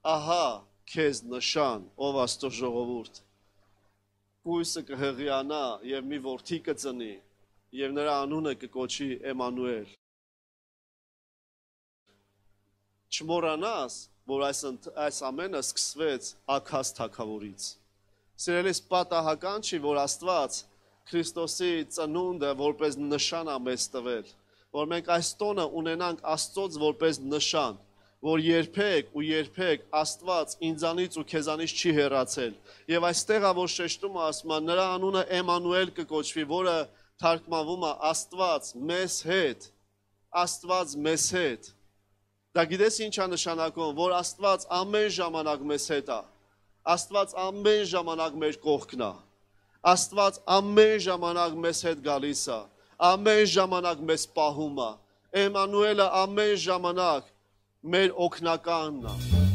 ահա քեզ նշան, ով Աստծո ժողովուրդ, կույսը կհղիանա եւ մի որդի կծնի եւ նրա անունը կկոչի Էմանուել։ Չմոռանաս, որ այս ամենը սկսվեց Աքազ թագավորից։ Սիրելիս, պատահական չի, որ Աստված Քրիստոսի ծնունդը որպես նշան է մեզ տվել, որ մենք այս տոնը ունենանք Աստծոց որպես նշան, որ երբեք Աստված ինձանից ու քեզանից չի հեռացել։ Եվ այստեղ է, որ շեշտումը ասում է, նրա անունը Էմանուել կկոչվի, որը թարգմանվում է Աստված մեզ հետ, Աստված մեզ հետ։ Դա գիտես ինչ է նշանակում, որ Աստված ամեն ժամանակ մեզ հետ է, Աստված ամեն ժամանակ մեր կողքն է, Աստված ամեն ժամանակ մեզ հետ գալիս է, ամեն ժամանակ մեզ պահում է, Էմանուելը ամեն ժամանակ մեր օգնականն է։